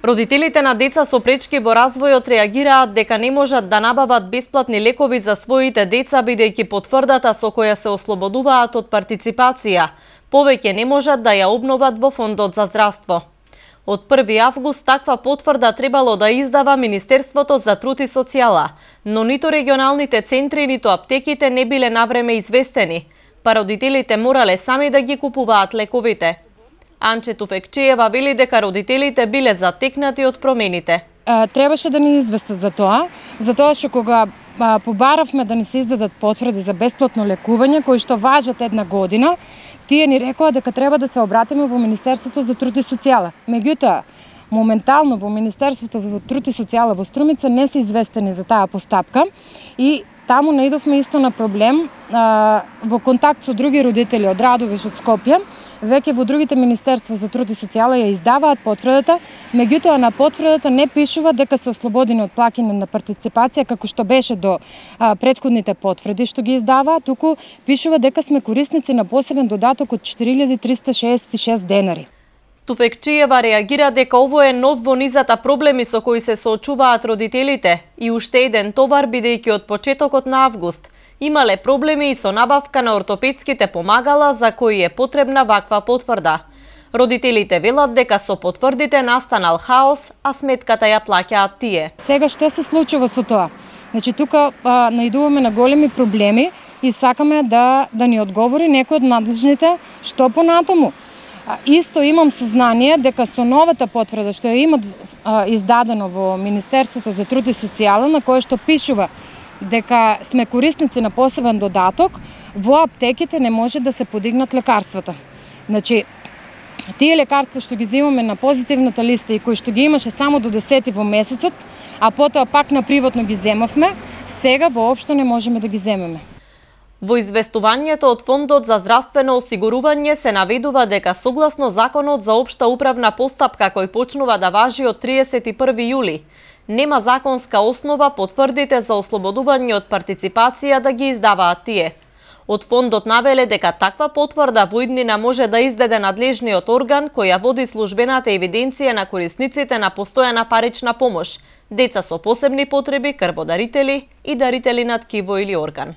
Родителите на деца со пречки во развојот реагираат дека не можат да набават бесплатни лекови за своите деца бидејќи потврдата со која се ослободуваат од партиципација повеќе не можат да ја обноват во Фондот за здравство. Од 1 август таква потврда требало да издава Министерството за труд и социјала, но ниту регионалните центри, ниту аптеките не биле навреме известени, па родителите морале сами да ги купуваат лековите. Анче Туфекчиева вели дека родителите биле затекнати од промените. Требаше да ни известат за тоа што кога побаравме да ни се издадат потврди за бесплатно лекување кои што важат 1 година, тие ни рекоа дека треба да се обратиме во Министерството за труд и социјала. Меѓутоа, моментално во Министерството за труд и социјала во Струмица не се известени за таа постапка и таму наидовме исто на проблем во контакт со други родители од Радовиш, од Скопје. Веќе во другите Министерства за труд и социјала ја издаваат потврдата, меѓутоа на потврдата не пишува дека се ослободени од плаќање на партиципација како што беше до претходните потврди што ги издаваат, туку пишува дека сме корисници на посебен додаток од 4366 денари. Туфекчиева реагира дека ово е нов во низата проблеми со кои се соочуваат родителите и уште еден товар бидејќи од почетокот на август имале проблеми и со набавка на ортопедските помагала за кои е потребна ваква потврда. Родителите велат дека со потврдите настанал хаос, а сметката ја плаќаат тие. Сега што се случува со тоа? Значи тука наидуваме на големи проблеми и сакаме да ни одговори некој од надлежните што понатаму. Исто имам сознание дека со новата потврда што ја имат издадено во Министерството за труд и социјала, на кое што пишува дека сме корисници на посебен додаток, во аптеките не може да се подигнат лекарствата. Значи, тие лекарства што ги земаме на позитивната листа и кои што ги имаше само до 10 во месецот, а потоа пак на приватно ги земавме, сега воопшто не можеме да ги земеме. Во известувањето од Фондот за здравствено осигурување се наведува дека согласно Законот за општа управна постапка кој почнува да важи од 31 јули, нема законска основа потврдите за ослободување од партиципација да ги издаваат тие. Од фондот навеле дека таква потврда во иднина може да издаде надлежниот орган која води службената евиденција на корисниците на постојана парична помош, деца со посебни потреби, крводарители и дарители на ткиво или орган.